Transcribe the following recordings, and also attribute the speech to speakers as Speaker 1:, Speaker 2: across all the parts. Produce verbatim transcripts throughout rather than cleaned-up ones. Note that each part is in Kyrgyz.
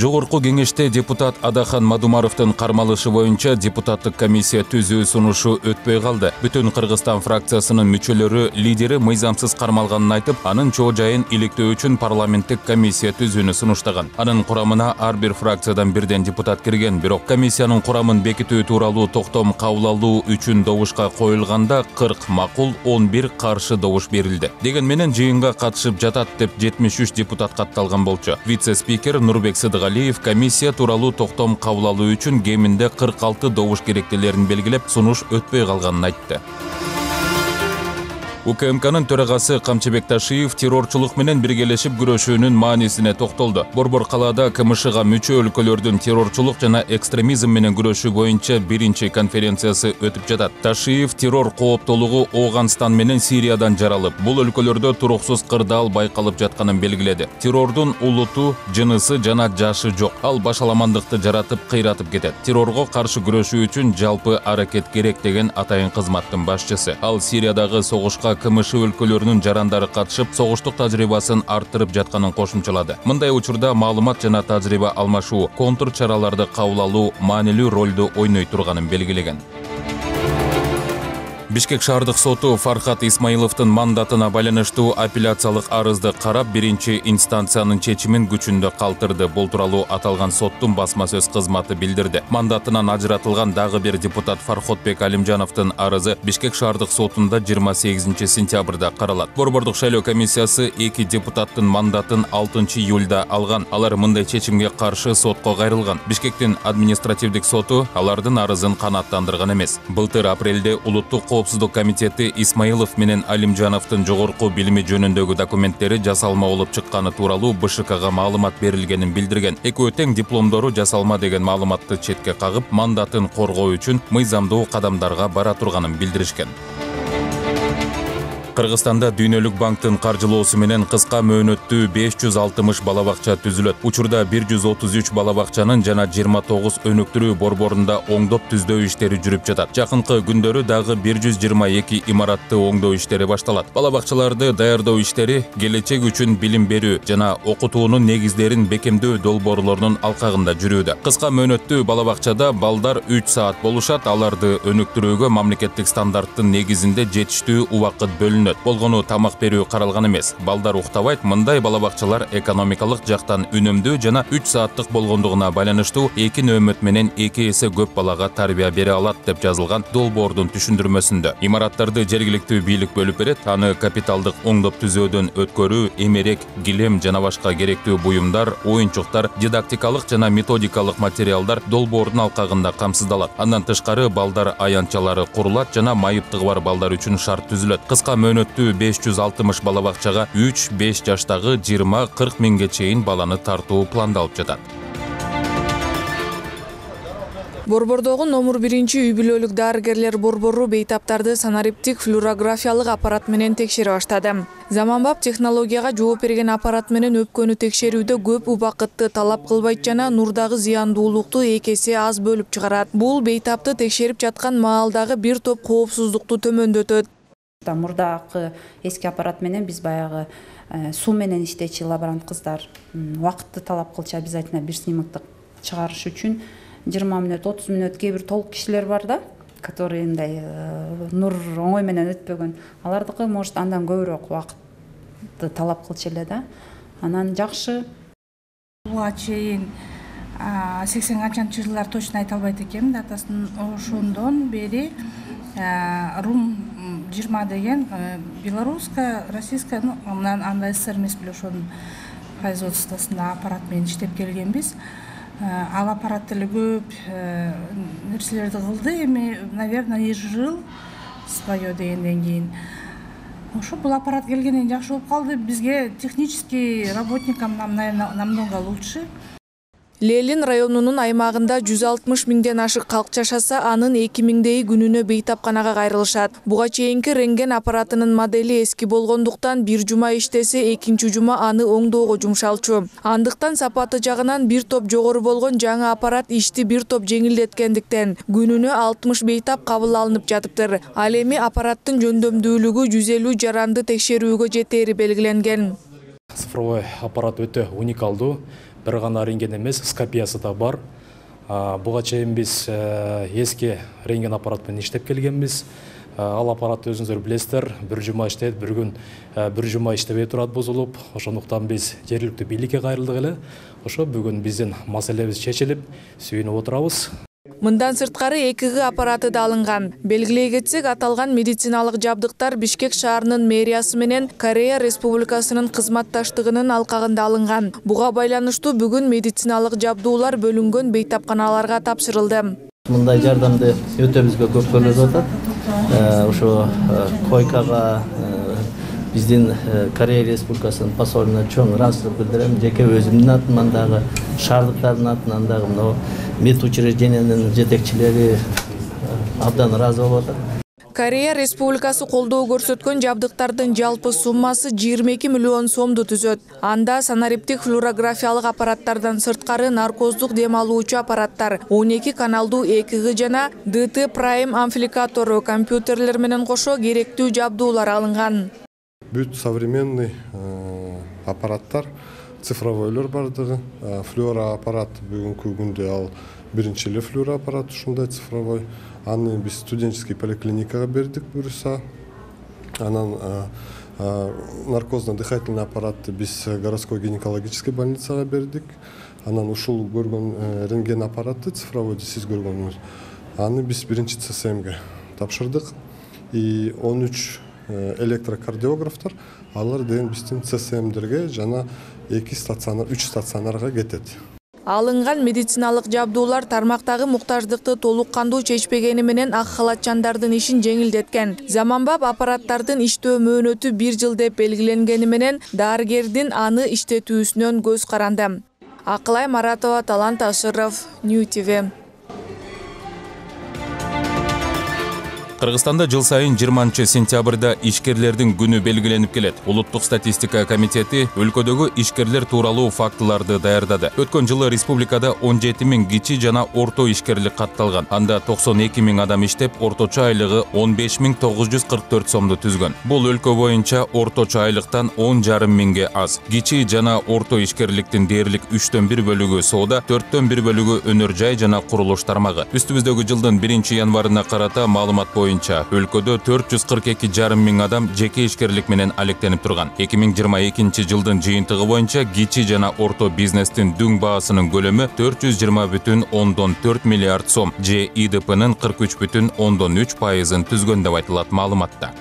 Speaker 1: Жогорку кеңеште депутат Адахан Мадумаровдун кармалышы боюнча депутаттык комиссия түзүү сунушу өтпөй калды. Бүтүн Кыргызстан фракциясынын мүчөлөрү лидери мыйзамсыз кармалганын айтып, анын чоо жайын иликтөө үчүн парламенттик комиссия түзүүнү сунуштаган. Анын курамына ар бир фракциядан бирден депутат кирген, бирок комиссиянын курамын бекитүү тууралуу токтом кабыл алуу үчүн добушка коюлганда кырк макул, он бир каршы добуш берилди. Деген менен жыйынга катышып жатат деп жетимиш үч депутат катталган болчу. Вице-спикер Нурбек Сыдыгалиев комиссия тууралуу токтом кабыл алуу үчүн кеминде кырк алты добуш керектелерин белгилеп, сунуш өтпөй калганын айтты. УКМКнын төрагасы Камчыбек Ташиев террорчулук менен биргелешип күрөшүүнүн маанисине токтолду. Борбор калаада КМШга мүчө өлкөлөрдүн террорчулук жана экстремизм менен күрөшүү боюнча биринчи конференциясы өтүп жатат. Ташиев террор кооптолугу Ооганстан менен Сириядан жаралып, бул өлкөлөрдө туруксуз кырдаал байкалып жатканын белгиледи. Террордун улуту, жынысы жана жашы жок. Ал башаламандыкты жаратып, кыйратып кетет. Террорго каршы күрөшүү үчүн жалпы аракет керек деген атайын кызматтын башчысы. Ал Сириядагы согушка КМШ өлкөлөрүнүн жарандары катышып, согуштук тажрыйбасын арттырып жатканын кошумчалады. Мындай учурда маалымат жана тажрыйба алмашуу, контур чараларды кабыл алуу маанилүү ролду ойной турганын белгилеген. Бишкек шаардык соту Фархат Исмаиловдун мандатына байланыштуу апелляциялык арызды карап, биринчи инстанциянын чечимин күчүндө калтырды. Бул тууралуу аталган соттун басма сөз кызматы билдирди. Мандатынан ажыратылган дагы бир депутат Фархотбек Алимжановдун арызы Бишкек шаардык сотунда жыйырма сегизинчи сентябрда каралат. Борбордук шайлоо комиссиясы эки депутаттын мандатын алтынчы июлда алган. Алар мындай чечимге каршы сотко кайрылган. Бишкектин административдик соту алардын арызын канааттандырган эмес. Былтыр апрелде улуттук Коопсуздук комитети Исмаилов менен Алимжановдун жогорку билими жөнүндөгү документтери жасалма болуп чыкканы тууралуу БШКга маалымат берилгенин билдирген. Экөө тең дипломдору жасалма деген маалыматты четке кагып, мандатын коргоо үчүн мыйзамдуу кадамдарга бара турганын билдиришкен. Кыргызстанда Дүйнөлүк банктын каржылоосу менен кыска мөөнөттүү беш жүз алтымыш бала бакча түзүлөт. Учурда бир жүз отуз үч бала бакчанын жана жыйырма тогуз өнүктүрүү борборунда оңдоп түздөө иштери жүрүп жатат. Жакынкы күндөрү дагы бир жүз жыйырма эки имаратты оңдоо иштери башталат. Бала бакчаларды даярдоо иштери келечек үчүн билим берүү жана окутуунун негиздерин бекемдөө долбоорлорунун алкагында жүрүүдө. Кыска мөөнөттүү бала бакчада балдар үч саат болушат. Аларды өнүктүрүүгө мамлекеттик стандарттын негизинде жетиштүү убакыт бөлүнөт. Болгону тамак берүү каралган эмес. Балдар уктабайт. Мындай бала бакчалар экономикалык жактан үнөмдүү жана үч сааттык болгондугуна байланыштуу эки нөөмөт менен эки эсе көп балага тарбия бере алат деп жазылган долбоордун түшүндүрмөсүндө. Имараттарды жергиликтүү бийлик бөлүп берет. Аны капиталдык оңдоп түзөөдөн өткөрүү, эмерек, килем жана башка керектүү буюмдар, оюнчуктар, дидактикалык жана методикалык материалдар долбоордун алкагында камсыздалат. Андан тышкары балдар аянтчалары курулат жана майыптыгы бар балдар үчүн шарт түзүлөт. Кыска мөөнөттүү беш жүз алтымыш бала бакчага үч беш жаштагы жыйырма кырк миңге чейин баланы тартуу пландалып жатат.
Speaker 2: Борбордогу номер биринчи үй-бүлөлүк дарыгерлер борбору бейтаптарды санариптик флюорографиялык аппарат менен текшере баштады. Заманбап технологияга жооп берген аппарат менен өпкөнү текшерүүдө көп убакытты талап кылбайт жана нурдагы зыяндуулукту эки эсе аз бөлүп чыгарат. Бул бейтапты текшерип жаткан маалдагы бир топ коопсуздукту төмөндөтөт.
Speaker 3: Мурдакы эски аппарат менен биз баягы суу менен иштечи лаборант кыздар убакытты талап кылчу, обязательно бир снимокты чыгарыш үчүн жыйырма мүнөт, отуз мүнөт, кээ бир толук кишилер бар да, которые мындай нур оңой менен өтпөгөн. Алардыкы может андан көбүрөөк убакытты талап кылчу эле да. Анан жакшы.
Speaker 4: Буга чейин сексен качанчы жылдар точно айта албайт экенмин датасын. Ошондон бери Рум жыйырма деген белорусская, российская, ну анда СССР эмес беле ошонун производствосунда аппарат менен иштеп келгенбиз. Ал аппарат деле көп нерселерди кылды. Эми, наверное, жыл свое дегенден кийин ошо бул аппарат келгенден жакшы болуп калды. Бизге технический работникам нам, наверное, намного лучше.
Speaker 2: Лелин районунун аймагында жүз алтымыш миңден ашык калк жашаса, анын эки миңдейи күнүнө бейтапканага кайрылышат. Буга чейинки рентген аппаратынын модели эски болгондуктан бир жума иштесе, экинчи жума аны оңдоого жумшалчу. Андыктан сапаты жагынан бир топ жогору болгон жаңы аппарат ишти бир топ жеңилдеткендиктен күнүнө алтымыш бейтап кабыл алынып жатыптыр. Ал эми аппараттын жөндөмдүүлүгү жүз элүү жаранды текшерүүгө жетери белгиленген.
Speaker 5: Цифровой аппарат өтө уникалдуу. Бир гана рентген эмес, скопиясы да бар. Буга чейин биз эски рентген аппарат менен иштеп келгенбиз. Ал аппарат өзүңүздөр билесиздер, бир жума иштейт, бир күн бир жума иштебей турат бузулуп. Ошондуктан биз жергиликтүү бийликке кайрылдык эле. Ошо бүгүн биздин маселебиз чечилип, сүйүнүп отурабыз.
Speaker 2: Мындан сырткары эки гэ аппараты да алынган. Белгилей кетсек, аталган медициналык жабдыктар Бишкек шаарынын мэриясы менен Корея Республикасынын кызматташтыгынын алкагында алынган. Буга байланыштуу бүгүн медициналык жабдуулар бөлүнгөн бейтапканаларга тапшырылды.
Speaker 6: Мындай жардамды өтө бизге көп көрүлүп атат. Ошо койкага биздин Корея Республикасынын посолуна чоң ыраазычылык билдирем. Жеке өзүмдүн атымдан дагы, шаардыктардын атынан дагы мына медучреждениянын жетекчилери абдан ыраазы болуп атат.
Speaker 2: Корея Республикасы колдоо көрсөткөн жабдыктардын жалпы суммасы жыйырма эки миллион сомду түзөт. Анда санариптик флюорографиялык аппараттардан сырткары наркоздук дем алуучу аппараттар, он эки каналдуу эки гэ жана дэ тэ Prime амплификатору компьютерлер менен кошо керектүү жабдуулар алынган.
Speaker 7: Бүт современный аппараттар, цифровойлор бардыгы, флюороаппарат бүгүнкү күндө ал биринчи эле флюороаппарат ушундай цифровой. Аны биз студенческий поликлиникага бердик буюрса. Анан наркозно-дыхательный аппаратты биз городской гинекологический больницага бердик. Анан ушул көргөн рентген аппаратты цифровойду сиз көргөнүңүз. Аны биз биринчи цэ эс эмге тапшырдык. И он үч электрокардиографтар, алар деген биздин цэ эс эмдерге жана эки стационар, үч стационарга кетет.
Speaker 2: Алынган медициналык жабдуулар тармактагы муктаждыкты толук кандуу чечпегени менен ак халатчандардын ишин жеңилдеткен. Заманбап аппараттардын иштөө мөөнөтү бир жыл деп белгиленгени менен дарыгердин аны иштетүүсүнөн көз каранды. Акылай Маратова, Талант Ашыров, Нью ти ви.
Speaker 1: Кыргызстанда жыл сайын жыйырманчы сентябрда ишкерлердин күнү белгиленип келет. Улуттук статистика комитети өлкөдөгү ишкерлер тууралуу фактыларды даярдады. Өткөн жылы республикада он жети миң кичи жана орто ишкерлик катталган. Анда токсон эки миң адам иштеп, орточо айлыгы он беш миң тогуз жүз кырк төрт сомду түзгөн. Бул өлкө боюнча орточо айлыктан он жарым миңге аз. Кичи жана орто ишкерликтин дээрлик үчтөн бир бөлүгү соода, төрттөн бир бөлүгү өнөр жай жана курулуш тармагы. Үстүбүздөгү жылдын биринчи январына карата маалымат боюнча өлкөдө төрт жүз кырк эки жарым миң адам жеке ишкерлик менен алектенип турган. эки миң жыйырма экинчи жылдын жыйынтыгы боюнча кичи жана орто бизнестин дүң баасынын көлөмү төрт жүз жыйырма бүтүн ондон төрт миллиард сом, же и дэ пэнын кырк үч бүтүн ондон үч пайызын түзгөн деп айтылат маалыматта.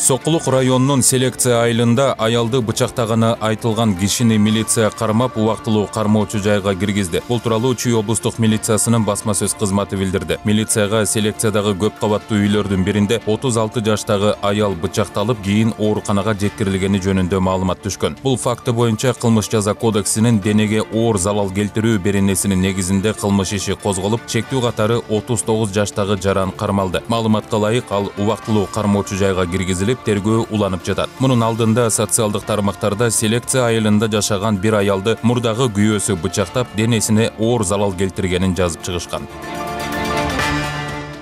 Speaker 1: Сокулук районунун селекция айылында аялды бычактаганы айтылган кишини милиция кармап, убактылуу кармоочу жайга киргизди. Бул тууралуу Чүй облустук милициясынын басма сөз кызматы билдирди. Милицияга селекциядагы көп кабаттуу үйлөрдүн биринде отуз алты жаштагы аял бычакталып, кийин ооруканага жеткирилгени жөнүндө маалымат түшкөн. Бул факты боюнча кылмыш жаза кодексинин денеге оор залал келтирүү беренесинин негизинде кылмыш иши козголуп, чектүү катары отуз тогуз жаштагы жаран кармалды. Маалыматка ылайык, ал убактылуу кармоочу жайга киргизилип, тергөө уланып жатат. Мунун алдында социалдык тармактарда селекция айылында жашаган бир аялды мурдагы күйөөсү бычактап, денесине оор залал келтиргенин жазып чыгышкан.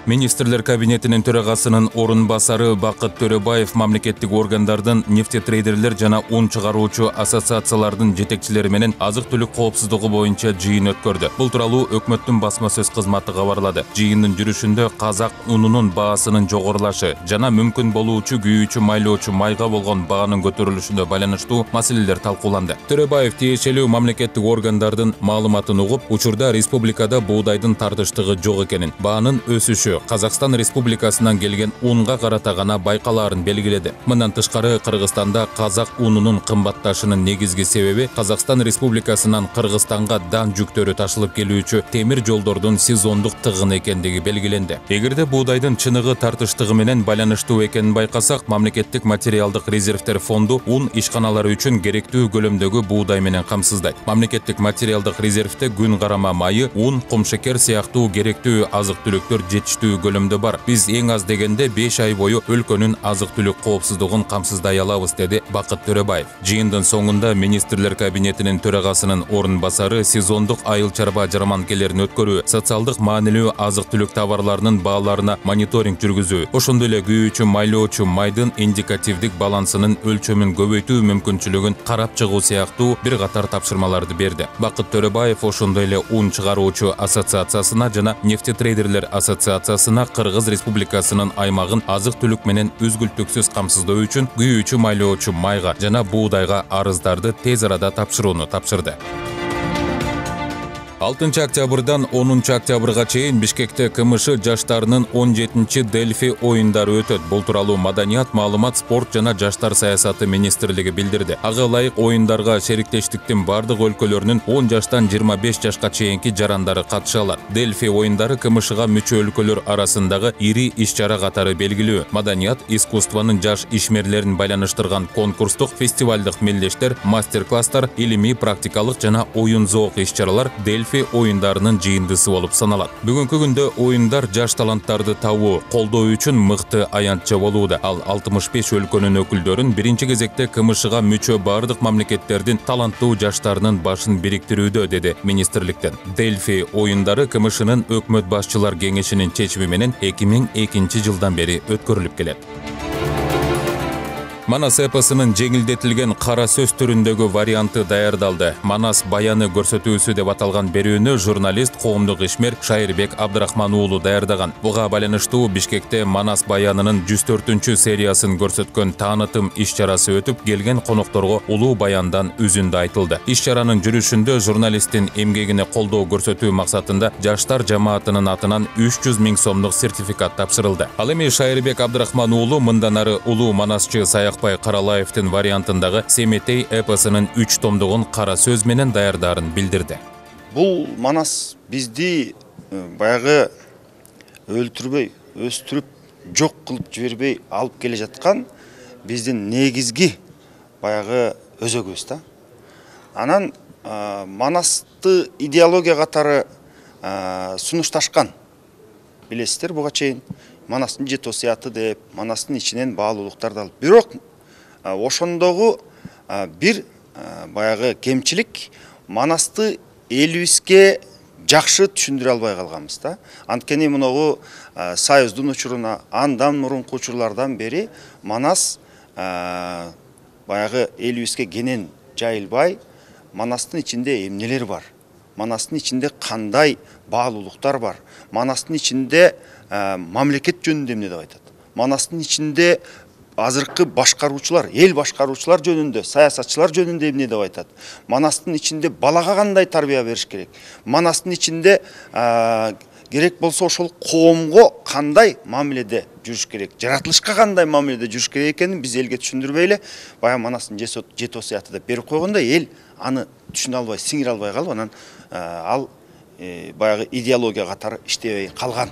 Speaker 1: Министрлер кабинетинин төрагасынын орун басары Бакыт Төрөбаев мамлекеттик органдардын, нефтетрейдерлер жана ун чыгаруучу ассоциациялардын жетекчилери менен азык-түлүк коопсуздугу боюнча жыйын өткөрдү. Бул тууралуу өкмөттүн басма сөз кызматы кабарлады. Жыйындын жүрүшүндө казак унунун баасынын жогорулашы жана мүмкүн болуучу күйүүчү майлоочу майга болгон баанын көтөрүлүшүнө байланыштуу маселелер талкууланды. Төрөбаев тиешелүү мамлекеттик органдардын маалыматын угуп, учурда республикада буудайдын тартыштыгы жок экенин, баанын өсүшү көрсөтүү Казакстан Республикасынан келген унга карата гана байкалаарын белгиледи. Мындан тышкары Кыргызстанда казак унунун кымбатташынын негизги себеби Казакстан Республикасынан Кыргызстанга дан жүктөрү ташылып келүүчү темир жолдордун сезондук тыгын экендиги белгиленди. Эгерде буудайдын чыныгы тартыштыгы менен байланыштуу экенин байкасак, мамлекеттик материалдык резервтер фонду ун ишканалары үчүн керектүү көлөмдөгү буудай менен камсыздайт. Мамлекеттик материалдык резервте күн карама майы, ун, кумшекер сыяктуу керектүү азык-түлүктөр жетиштүү көлөмдө бар. Биз эң аз дегенде беш ай бою өлкөнүн азык-түлүк коопсуздугун камсыздай алабыз, деди Бакыт Төрөбаев. Жыйындын соңунда министрлер кабинетинин төрагасынын орун басары сезондук айыл чарба жарманкелерин өткөрүү, социалдык маанилүү азык-түлүк товарларынын бааларына мониторинг жүргүзүү, ошондой эле күйүүчү майлоочу майдын индикативдик балансынын өлчөмүн көбөйтүү мүмкүнчүлүгүн карап чыгуу сыяктуу бир катар тапшырмаларды берди. Бакыт Төрөбаев ошондой эле ун чыгаруучу ассоциациясына жана нефтетрейдерлер ассоциациясына Кыргыз Республикасынын аймагын азык-түлүк менен үзгүлтүксүз камсыздоо үчүн күйүүчү майлоочу майга жана буудайга арыздарды тез арада тапшырууну тапшырды. алтынчы октябрдан онунчу октябрга чейин Бишкекте КМШ жаштарынын он жетинчи Дельфи оюндары өтөт. Бул тууралуу Маданият, маалымат, спорт жана жаштар саясаты министрлиги билдирди. Ага ылайык оюндарга шериктештиктин бардык өлкөлөрүнүн он жаштан жыйырма беш жашка чейинки жарандары катыша алат. Дельфи оюндары КМШга мүчө өлкөлөр арасындагы ири иш-чара катары белгилүү. Маданият, искусствонун жаш ишмерлерин байланыштырган конкурстук, фестивалдык мелдештер, мастер-класстар, илимий, практикалык жана оюн зоок иш-чаралар Дельфи оюндарынын жыйындысы болуп саналат. Бүгүнкү күндө оюндар жаш таланттарды табуу, колдоо үчүн мыкты аянтча болууда. Ал алтымыш беш өлкөнүн өкүлдөрүн биринчи кезекте КМШга мүчө бардык мамлекеттердин таланттуу жаштарынын башын бириктирүүдө, деди министрликтен. Дельфи оюндары КМШнын өкмөт башчылар кеңешинин чечими менен эки миң экинчи жылдан бери өткөрүлүп келет. Манас эпосунун жеңилдетилген кара сөз түрүндөгү варианты даярдалды. Манас баяны көрсөтүүсү деп аталган берүүнү журналист, коомдук ишмер Шайырбек Абдрахман уулу даярдаган. Буга байланыштуу Бишкекте Манас баянынын жүз төртүнчү сериясын көрсөткөн таанытым иш-чарасы өтүп, келген конокторго улуу баяндан үзүндү айтылды. Иш-чаранын жүрүшүндө журналисттин эмгегине колдоо көрсөтүү максатында жаштар жамаатынын атынан үч жүз миң сомдук сертификат тапшырылды. Ал эми Шайырбек Абдрахман уулу мындан ары улуу манасчы Саяк Каралаевдин вариантындагы Семетей эпосунун үч томдугун кара сөз менен даярдаарын билдирди.
Speaker 8: Бул Манас бизди баягы өлтүрбөй, өстүрүп, жок кылып жибербей алып келе жаткан биздин негизги баягы өзөгүбүз да. Анан Манасты идеология катары сунушташкан. Билесиздер, буга чейин Манастын жет осуяты деп, Манастын ичинен баалуулуктарды алып. Бирок ошондогу бир баягы кемчилик, Манасты элибизге жакшы түшүндүрө албай калганбыз да. Анткени муногу Союздун учуруна андан мурунку учурлардан бери Манас баягы элибизге кенен жайылбай, Манастын ичинде эмнелер бар? Манастын ичинде кандай баалуулуктар бар? Манастын ичинде мамлекет жөнүндө эмне деп айтат? Манастын ичинде азыркы башкаруучулар, эл башкаруучулар жөнүндө, саясатчылар жөнүндө эмне деп айтат? Манастын ичинде балага кандай тарбия бериш керек? Манастын ичинде керек болсо ошол коомго кандай мамиледе жүрүш керек? Жаратылышка кандай мамиледе жүрүш керек экенин биз элге түшүндүрбөй эле, баягы Манастын жет осуяты деп берип койгондо эл аны түшүнө албай, сиңире албай калып, анан ал баягы идеология катары иштебей калган.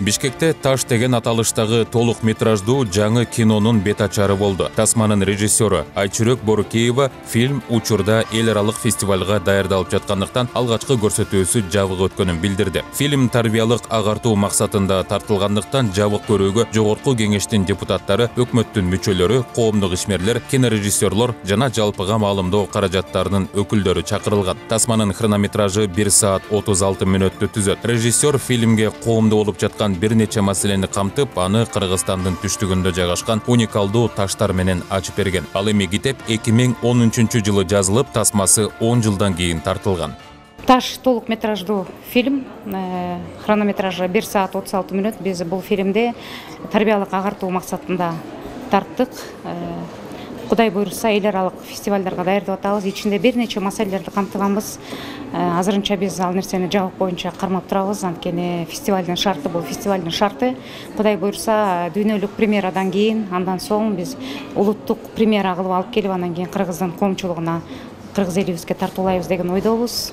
Speaker 1: Бишкекте Таш деген аталыштагы толук метраждуу жаңы кинонун бет ачары болду. Тасманын режиссеру Айчүрөк Борукеева фильм учурда эл аралык фестивалга даярдалып жаткандыктан алгачкы көрсөтүүсү жабык өткөнүн билдирди. Фильм тарбиялык агартуу максатында тартылгандыктан жабык көрүүгө жогорку кеңештин депутаттары, өкмөттүн мүчөлөрү, коомдук ишмерлер, кинорежиссерлор жана жалпыга маалымдоо каражаттарынын өкүлдөрү чакырылган. Тасманын хронометражы бир саат отуз алты мүнөттү түзөт. Режиссер фильмге коомдо болуп жаткан бир нече маселени камтып, аны Кыргызстандын түштүгүндө жайгашкан уникалдуу таштар менен ачып берген. Ал эми китеп эки миң он үчүнчү жылы жазылып, тасмасы он жылдан кийин тартылган.
Speaker 9: Таш толук метраждуу фильм, хронометражы бир саат отуз алты мүнөт. Биз бул фильмде тарбиялык агартуу максатында тарттык. Кудай буйруса эл аралык фестивалдарга даярдап атабыз. Ичинде бир нече маселелерди камтыганбыз. Азырынча биз ал нерсени жабык боюнча кармап турабыз. Анткени фестивалдын шарты бул фестивалдын шарты. Кудай буйруса дүйнөлүк премьерадан кийин, андан соң биз улуттук премьера кылып алып келип, андан кийин Кыргыздын коомчулугуна, кыргыз элибизге тартуулайбыз деген ойдобуз.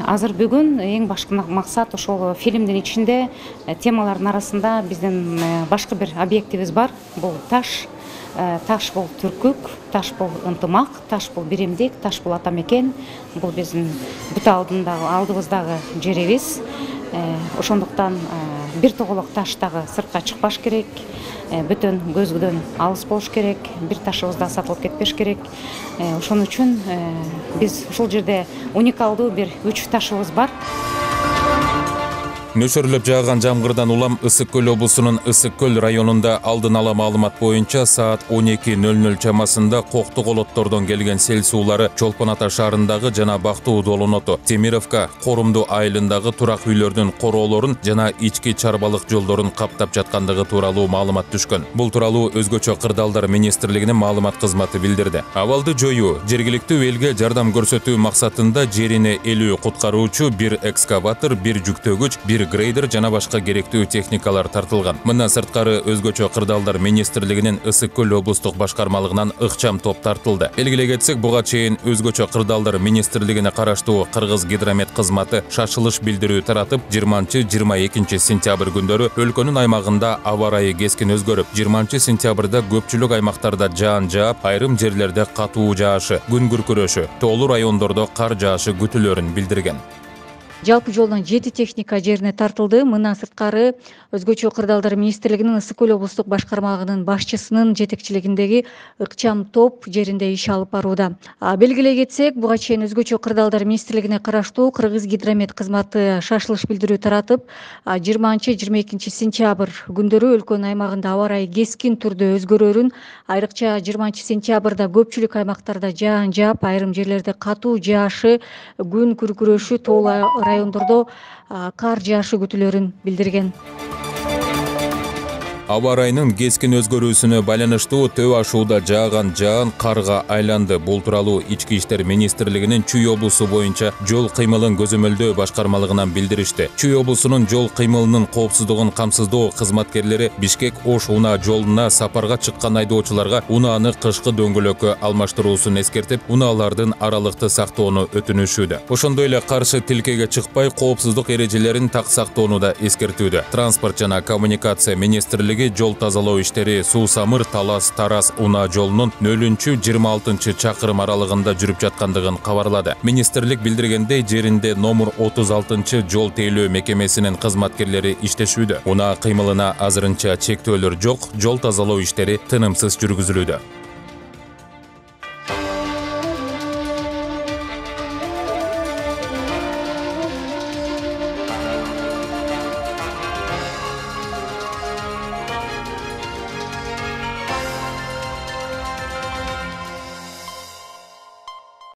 Speaker 9: Азыр бүгүн эң башкы максат ошол фильмдин ичинде темалардын арасында биздин башка бир объектибиз бар. Бул таш. Таш бул түркүк, таш бул ынтымак, таш бул биримдик, таш бул ата мекен. Бул биздин бүт алдындагы алдыбыздагы жерибиз. Ошондуктан бир тоголок таш дагы сыртка чыкпаш керек. Бүтөн көзгөдөн алыс болуш керек. Бир ташыбыз да сатылып кетпеш керек. Ошон үчүн биз ушул жерде уникалдуу бир үч ташыбыз бар.
Speaker 1: Нөшөрлөп жааган жамгырдан улам Ысык Көл облусунун Ысык Көл районунда алдын ала маалымат боюнча саат он эки нөл нөл чамасында Коктук олоттордон келген сел суулары Чолпон Ата шаарындагы жана Бактуу Долоноту, Темировка, Корумду айылындагы турак үйлөрдүн короолорун жана ички чарбалык жолдорун каптап жаткандыгы тууралуу маалымат түшкөн. Бул тууралуу Өзгөчө кырдаалдар министрлигинин маалымат кызматы билдирди. Абалды жоюу, жергиликтүү элге жардам көрсөтүү максатында жерине элүү куткаруучу, бир экскаватор, бир жүктөгүч, бир грейдер жана башка керектүү техникалар тартылган. Мындан сырткары Өзгөчө кырдаалдар министрлигинин Ысык Көл облустук башкармалыгынан ыкчам топ тартылды. Белгилей кетсек, буга чейин Өзгөчө кырдаалдар министрлигине караштуу Кыргыз гидромет кызматы шашылыш билдирүү таратып, жыйырманчы жыйырма экинчи сентябрь күндөрү өлкөнүн аймагында аба ырайы кескин өзгөрүп, жыйырманчы сентябрда көпчүлүк аймактарда жаан жаап, айрым жерлерде катуу жаашы, күн күркүрөшү, тоолуу райондордо кар жаашы күтүлөрүн билдирген.
Speaker 10: Жалпы жолдон жети техника жерине тартылды. Мындан сырткары Өзгөчө кырдаалдар министрлигинин Ысык Көл облустук башкармалыгынын башчысынын жетекчилигиндеги ыкчам топ жеринде иш алып барууда. Белгилей кетсек, буга чейин Өзгөчө кырдаалдар министрлигине караштуу Кыргыз гидромет кызматы шашылыш билдирүү таратып, жыйырманчы жыйырма экинчи сентябрь күндөрү өлкөнүн аймагында аба ырайы кескин түрдө өзгөрөрүн, айрыкча жыйырманчы сентябрда көпчүлүк аймактарда жаан жаап, айрым жерлерде катуу жаашы, күн күркүрөшү, тоолуу райондордо кар жаашы күтүлөрүн билдирген.
Speaker 1: Аба ырайынын кескин өзгөрүүсүнө байланыштуу Төө ашууда жааган жаан карга айланды. Бул тууралуу Ички иштер министрлигинин Чүй облусу боюнча жол кыймылын көзөмөлдөө башкармалыгынан билдиришти. Чүй облусунун жол кыймылынын коопсуздугун камсыздоо кызматкерлери Бишкек-Ош унаа жолуна сапарга чыккан айдоочуларга унааны кышкы дөңгөлөккө алмаштыруусун эскертип, унаалардын аралыкты сактоону өтүнүшүүдө. Ошондой эле каршы тилкеге чыкпай, коопсуздук эрежелерин так сактоону да эскертүүдө. Транспорт жана коммуникация министрлиги жол тазалоо иштери Суу Самыр Талас Тарас унаа жолунун нөлүнчү жыйырма алтынчы чакырым аралыгында жүрүп жаткандыгын кабарлады. Министрлик билдиргендей, жеринде номер отуз алтынчы жол тейлөө мекемесинин кызматкерлери иштешүүдө. Унаа кыймылына азырынча чектөөлөр жок, жол тазалоо иштери тынымсыз жүргүзүлүүдө.